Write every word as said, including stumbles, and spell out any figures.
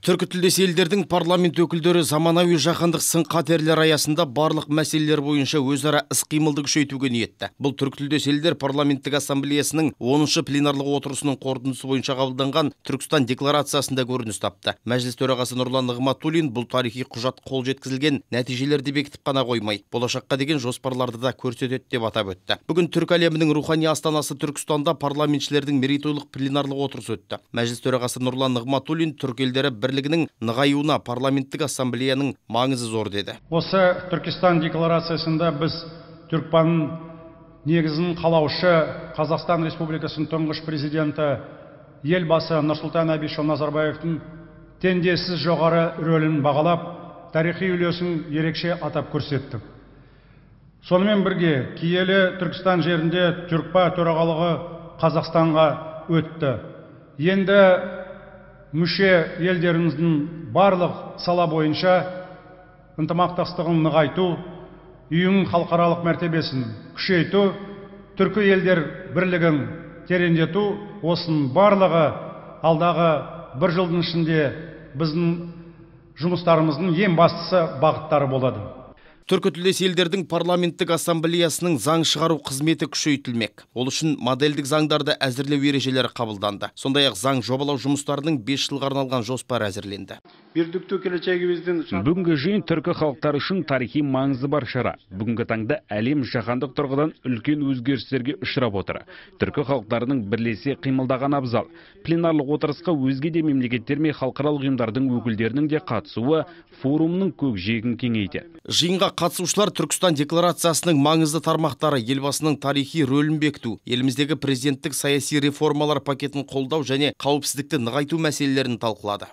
Түркі тілдес елдердің парламент өкілдері заманауи жаһандық сын-қатерлер аясында барлық мәселелер бойынша өзара іс-қимылды күшейтуге ниетті. Бұл Түркі тілдес елдер парламенттік ассамблеясының оныншы пленарлық отырысының қорытындысы бойынша қабылданған Түркістан декларациясында көрініс тапты. Мәжіліс төрағасы Нұрлан Нығматуллин бұл тарихи құжат қол жеткізілген нәтижелерді бекітіп қана қоймай, болашаққа деген жоспарларды да көрсетеді деп атап өтті. Бүгін түркі әлемінің рухани астанасы Түркістанда парламентшілердің мерейтойлық пленарлық отырысы өтті. Мәжіліс төрағасы Нұрлан Нығматуллин түркі елдері бірлігінің нығаюына парламенттік ассамблеяның маңызы зор деді. Осы Түркістан декларациясында біз Түркпанның негізін қалаушы Қазақстан Республикасының тұңғыш президенті елбасы Нұрсұлтан Әбішұлы Назарбаевтың теңдессіз жоғары рөлін бағалап, тарихи үлесін ерекше атап көрсеттік. Сонымен бірге киелі Түркістан жерінде Түркпа төрағалығы Қазақстанға өтті. Енді мүше елдеріміздің барлық сала бойынша ынтымақтастығын нығайту, ұйым халықаралық мәртебесін күшейту, түркі елдер бірлігін тереңдету, осының барлығы алдағы бір жылдың ішінде біздің жұмыстарымыздың ең бастысы бағыттары болады. Түркі тілдес елдердің парламенттік ассамблеясының заң шығару қызметі күшейтілмек. Ол үшін модельдік заңдарды әзірлеу ережелері қабылданды. Сондай-ақ заң жобалау жұмыстарының бес жылға арналған жоспар әзірленді. Бүгінгі жиын түркі халықтары үшін тарихи маңызы бар шара. Бүгінгі таңда әлем жаһандық тұрғыдан үлкен өзгерістерге ұшырап отыр. Түркі халықтарының бірлесе қимылдаған абзал. Пленарлық отырысқа өзге де мемлекеттер мен халықаралық ұйымдардың өкілдерінің де қатысуы форумның көкжиегін кеңейтеді. Жиынға қатысушылар Түркістан декларациясының маңызды тармақтары, елбасының тарихи рөлін бекіту, еліміздегі президенттік саяси реформалар пакетін қолдау және қауіпсіздікті нығайту мәселелерін талқылады.